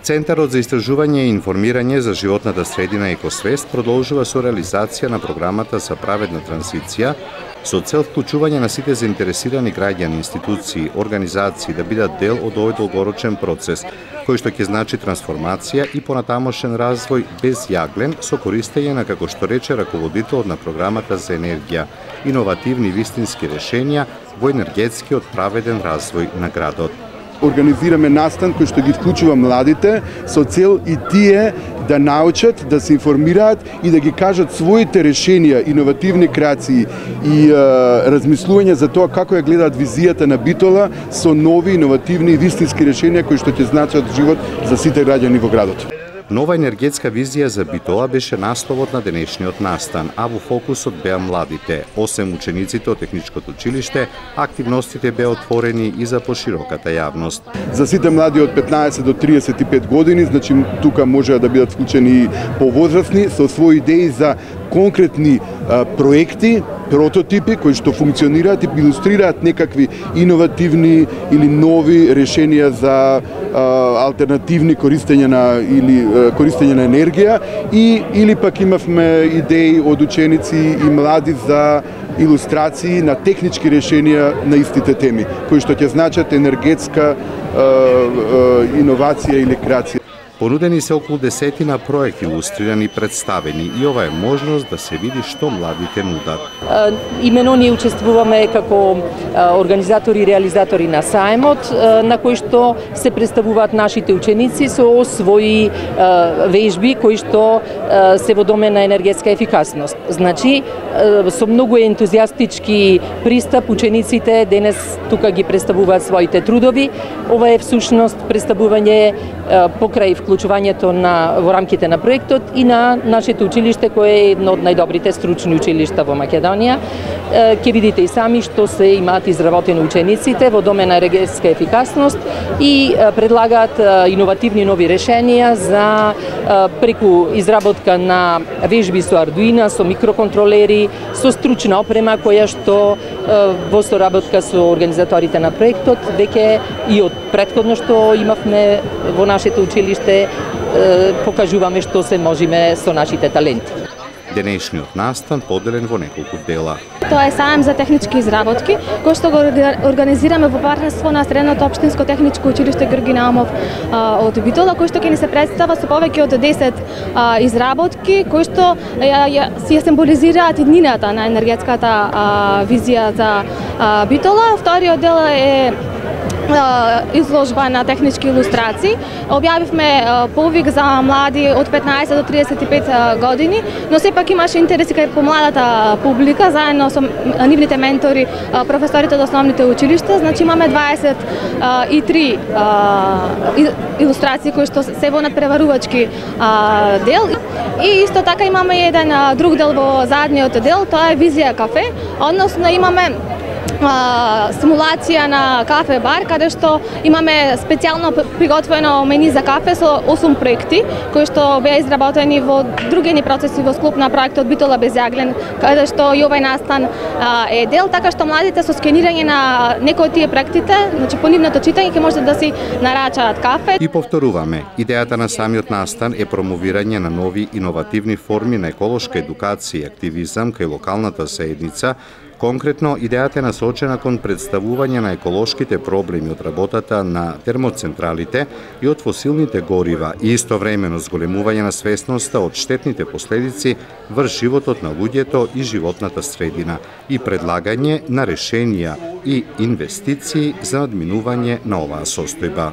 Центарот за истражување и информирање за животната средина Екосвест продолжува со реализација на програмата за праведна транзиција со цел вклучување на сите заинтересирани граѓани, институции, организации да бидат дел од овој долгорочен процес, кој што ќе значи трансформација и понатамошен развој без јаглен со користење на, како што рече раководителот на програмата за енергија, иновативни вистински решенија во енергетскиот праведен развој на градот. Организираме настан кој што ги вклучува младите со цел и тие да научат, да се информираат и да ги кажат своите решенија, иновативни креации и размислување за тоа како ја гледаат визијата на Битола со нови, иновативни и вистински решенија кои што ќе значат живот за сите граѓани во градот. Нова енергетска визија за Битола беше насловот на денешниот настан, а во фокусот беа младите. 8 учениците од техничкото училиште, активностите беа отворени и за пошироката јавност. За сите млади од 15 до 35 години, значи тука може да бидат вклучени и повозрастни со своји идеи за конкретни проекти, прототипи кои што функционираат и илустрираат некакви иновативни или нови решенија за алтернативни користење на енергија или пак имавме идеи од ученици и млади за илустрации на технички решенија на истите теми, кои што ќе значат енергетска иновација или креација. Понудени се околу 10 проекти илустрирани и представени и ова е можност да се види што младите нудат. Имено ние учествуваме како организатори и реализатори на сајмот, на кој што се представуваат нашите ученици со своји вежби кои што се во домен на енергетска ефикасност. Значи, со многу ентузијастички пристап учениците денес тука ги представуваат своите трудови. Ова е всушност представување покрај вклучувањето во рамките на проектот и на нашето училиште кое е едно од најдобрите стручни училишта во Македонија. Ќе видите и сами што се имаат изработени учениците во домен на енергетска ефикасност и предлагаат иновативни нови решенија за преку изработка на вежби со Ардуина, со микроконтролери, со стручна опрема која што во соработка со организаторите на проектот веќе и од претходно што имавме во нашето училиште покажуваме што се можеме со нашите таленти. Денешниот настан поделен во неколку дела. Тоа е сајм за технички изработки, кој што го организираме во партнерство на Средното општинско техничко училиште Георги Наумов од Битола, кој што ќе ни се представа со повеќе од 10 изработки, кои што ја символизираат иднината на енергетската визија за Битола. Вториот дел е изложба на технички илустрации. Објавивме повик за млади од 15 до 35 години, но сепак имаше интерес и кај помладата публика, заедно со нивните ментори, професорите од основните училишта. Значи имаме 23 илустрации кои што се во надпреварувачки дел. И исто така имаме еден друг дел во задниот дел, тоа е визија кафе, односно имаме симулација на кафе бар, каде што имаме специјално приготвено мени за кафе со 8 проекти, кои што беа изработени во другени процеси во склоп на проектот Битола без јаглен, каде што и овај настан е дел, така што младите со скенирање на некои од тие проектите, значи по нивното читање ќе можат да си нарачаат кафе. И повторуваме, идејата на самиот настан е промовирање на нови иновативни форми на еколошка едукација и активизам кај локалната заедница. Конкретно, идејата е насочена кон представување на еколошките проблеми од работата на термоцентралите и од фосилните горива и истовремено зголемување на свесноста од штетните последици врз животот на луѓето и животната средина и предлагање на решенија и инвестиции за надминување на оваа состојба.